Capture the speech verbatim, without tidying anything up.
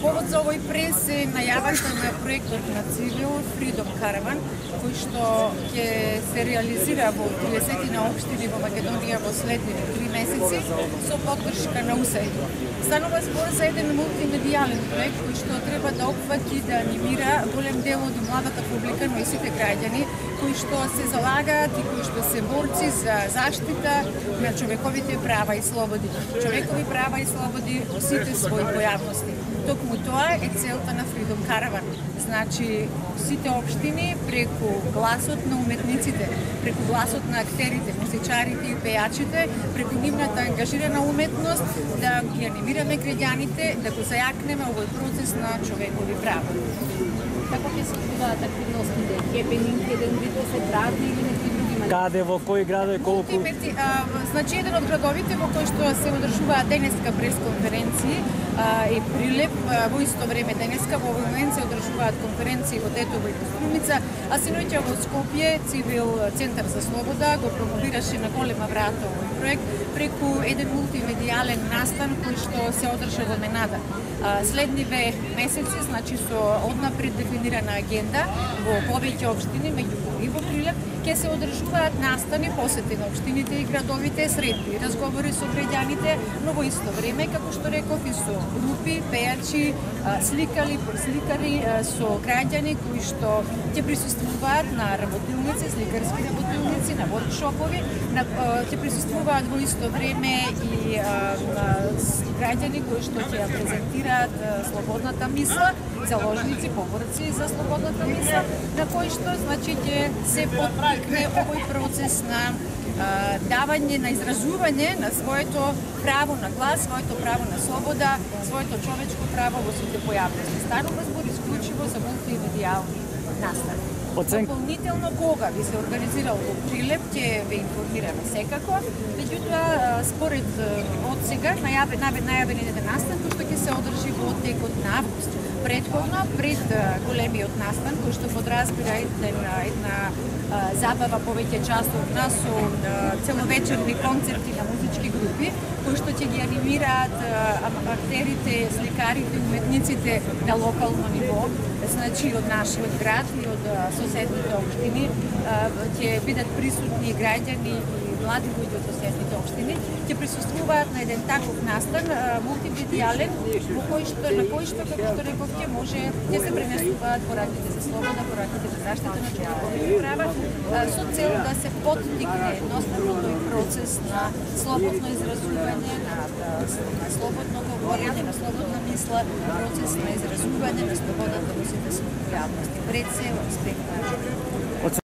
Повод за овој прес е најавата на проектот на Цивил Freedom Caravan, кој што ќе се реализира во триесет на општини во Македонија во следните три месеци со поддршка на У С А И Д. Станува збор за еден мултимедијален проект кој што треба да опфати да анимира голем дел од младата публика, но и сите граѓани кои што се залагаат и кои што се борци за заштита на човековите права и слободи. Човекови права и слободи во сите своји појавности. Токму тоа е целта на Freedom Caravan. Значи, сите општини преку гласот на уметниците, преку гласот на актерите, музичарите и пејачите, преку нивната ангажирана уметност, да ги анимираме граѓаните, да го зајакнеме овој процес на човекови права. Како ќе се одвиваат активностите? Хепенинг, еден вид да се празни или некои други манери? Каде, во кои градови, колку? Значи, еден од градовите во кој што се одржуваат денеска пресконференции е Прилеп. Во исто време денеска во овој момент се одржуваат конференции во Тетово и Коструница, а синоќа во Скопје Цивил Центар за слобода го промовираше на голема врата овој проект преку еден мултимедијален настан кој што се одржа во Менада. Следниве месеци, значи со однапред дефинирана агенда во повеќе општини, меѓу кои и во Прилеп, ќе се одржуваат настани посети на општините и градовите, средби разговори со граѓаните, но во исто време, како што реков, и со групи, пејачи, сликари, сликари со граѓани кои што ќе присуствуваат на работилници, сликарски работилници, на воркшопови, ќе присуствуваат во исто време и граѓани кои што ќе ја презентираат слободната мисла, заложници, поборци за слободната мисла, на кои што значи ќе се поттикне овој процес на а, давање, на изразување на своето право на глас, своето право на слобода, своето човечко право во сите појавности. Станува збор исклучиво за мултимедијални настави. Оцен... Дополнително кога би се организирал во Прилеп, ќе ве информираме секако. Меѓутоа, според од сега најавен најавен еден настан кој што ќе се одржи во текот на август. Предходно, пред големиот настан, кој што подразбира една, една забава повеќе часовна со целовечерни концерти на музички групи, кои што ќе ги анимираат актерите, сликарите, уметниците на локално ниво, значи од нашиот град и од соседните општини, ќе бидат присутни граѓани и млади луѓе од соседните општини, ќе присуствуваат на еден таков настан мултимедијален, во кој што на кој што како што рековте може ќе се пренесуваат пораките за слобода, пораките за заштита на човековите права, со цел да се поттикне едноставно тој процес на слободно изразување, на, на слободно говорење, на слободна мисла, процес на изразување на слободата во сите своји појавности, пред се во аспект на